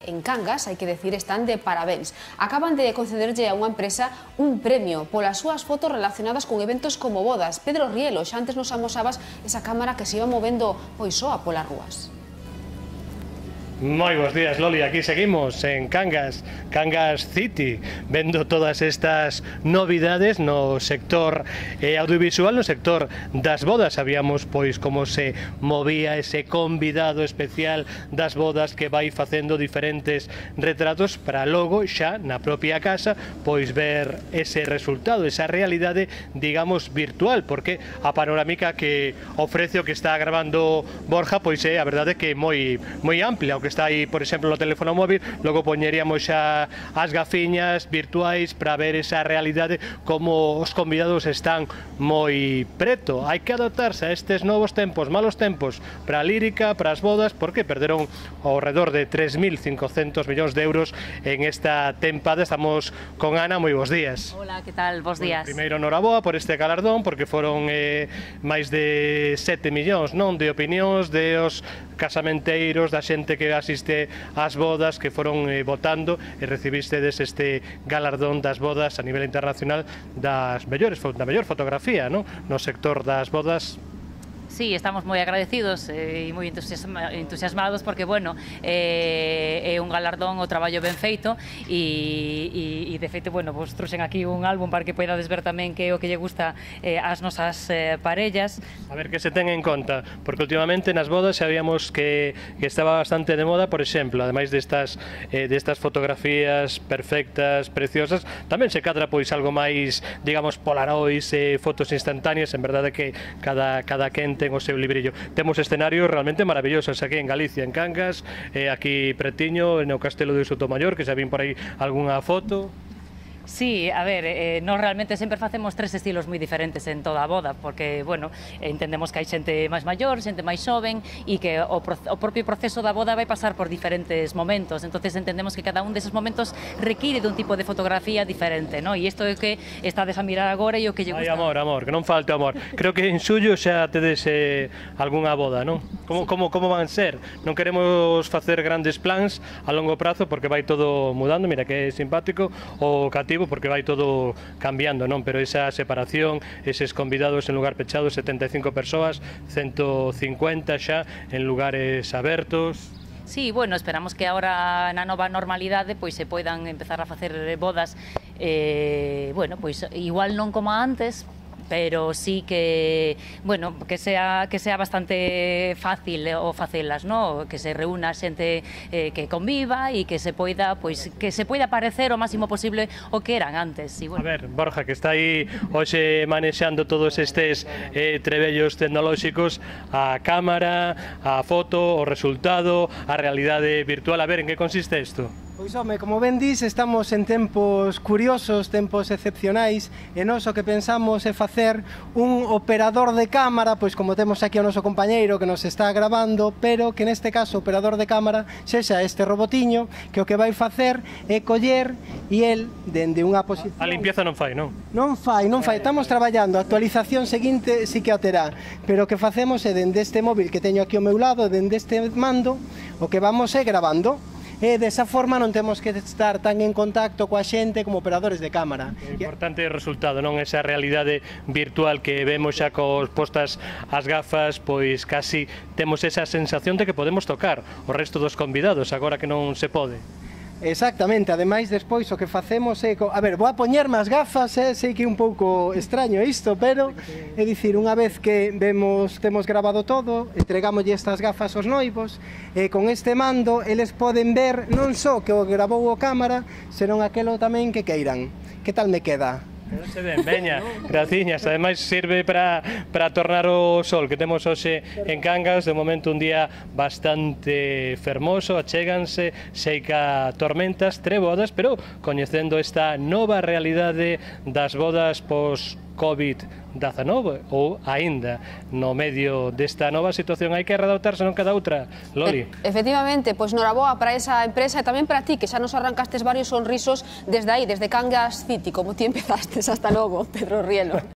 En Cangas, hai que decir, están de parabéns. Acaban de concederlle a unha empresa un premio polas súas fotos relacionadas con eventos como bodas. Pedro Rielo, xa antes nos amosabas esa cámara que se iba movendo pois soa polas rúas. Moi bons días, Loli, aquí seguimos en Cangas, Cangas City, vendo todas estas novidades no sector audiovisual, no sector das bodas. Sabíamos pois como se movía ese convidado especial das bodas que vai facendo diferentes retratos para logo xa na propia casa pois ver ese resultado, esa realidade, digamos, virtual, porque a panorámica que ofrece o que está grabando Borja pois é a verdade que moi amplia, o que está aí, por exemplo, no teléfono móvil. Logo poñeríamos xa as gafiñas virtuais para ver esa realidade, como os convidados están moi preto. Hai que adaptarse a estes novos tempos, malos tempos para a lírica, para as bodas, porque perderon ao redor de 3.500 millóns de euros en esta tempada. Estamos con Ana, moi bons días. Hola, que tal? Bos días. Primeiro, noraboa por este galardón, porque foron máis de 7 millóns, non, de opinións de os casamenteiros, da xente que asiste ás bodas, que foron votando, e recibistedes este galardón das bodas a nivel internacional da mellor fotografía, non? No sector das bodas. Sí, estamos moi agradecidos e moi entusiasmados porque, bueno, é un galardón o traballo ben feito e de feito, bueno, vos trouxen aquí un álbum para que poidades ver tamén que é o que lle gusta ás nosas parellas. A ver que se ten en conta, porque últimamente nas bodas sabíamos que estaba bastante de moda, por exemplo, ademais destas fotografías perfectas, preciosas, tamén se cadra pois algo máis, digamos, polaroids, fotos instantáneas. En verdade que cada quen ten o seu librillo. Temos escenarios realmente maravillosos aquí en Galicia, en Cangas, aquí pretiño, no Castelo de Sotomayor, que xa vin por aí algunha foto. Sí, a ver, nós realmente sempre facemos tres estilos moi diferentes en toda a boda, porque, bueno, entendemos que hai xente máis maior, xente máis xoven, e que o propio proceso da boda vai pasar por diferentes momentos, entonces entendemos que cada un deses momentos require dun tipo de fotografía diferente, non? E isto é o que estades a mirar agora e o que lle gusta. Ai, amor, que non falte amor. Creo que en xullo xa tedes algunha boda, non? Como van ser? Non queremos facer grandes plans a longo prazo, porque vai todo mudando. Mira que é simpático o cativo, porque vai todo cambiando, non? Pero esa separación, eses convidados en lugar pechado, 75 persoas, 150 xa en lugares abertos. Sí, bueno, esperamos que agora na nova normalidade pois se poidan empezar a facer bodas, bueno, pois igual non como antes, pero sí que, bueno, que sea bastante fácil o facelas, ¿no? Que se reúna xente que conviva e que se poida parecer o máximo posible o que eran antes. Y bueno. A ver, Borja, que está aí hoxe manexando todos estes trebellos tecnolóxicos, a cámara, a foto, o resultado, a realidade virtual. A ver, en que consiste isto? Pois, home, como ben dis, estamos en tempos curiosos, tempos excepcionais, e nós o que pensamos é facer un operador de cámara, pois como temos aquí o noso compañeiro que nos está grabando, pero que neste caso o operador de cámara sexa este robotiño que o que vai facer é coller e el, dende unha posición... A limpieza non fai, non? Non fai, estamos traballando, a actualización seguinte sí que a terá, pero o que facemos é dende este móvil que teño aquí ao meu lado, dende este mando, o que vamos é grabando. E desa forma non temos que estar tan en contacto coa xente como operadores de cámara. O importante é o resultado, non? Esa realidade virtual que vemos xa cos postas as gafas, pois casi temos esa sensación de que podemos tocar o resto dos convidados, agora que non se pode. Exactamente, ademais despois o que facemos é... A ver, vou a poñerme as gafas, sei que é un pouco extraño isto, pero é dicir, unha vez que temos grabado todo, entregámoslle estas gafas aos noivos, e con este mando eles poden ver non só que o grabou o cámara, senón aquelo tamén que queiran. Que tal me queda? Se ben, veña, graciñas. Ademais sirve para tornar o sol que temos hoxe en Cangas. De momento un día bastante fermoso, achéganse, seica tormentas, trebodas, pero coñecendo esta nova realidade das bodas post-Covid-19, ou aínda no medio desta nova situación hai que readaptarse, non cada outra, Loli. Efectivamente, pois noraboa para esa empresa e tamén para ti, que xa nos arrancastes varios sonrisos desde aí, desde Cangas City, como ti empezastes. Hasta logo, Pedro Rielo.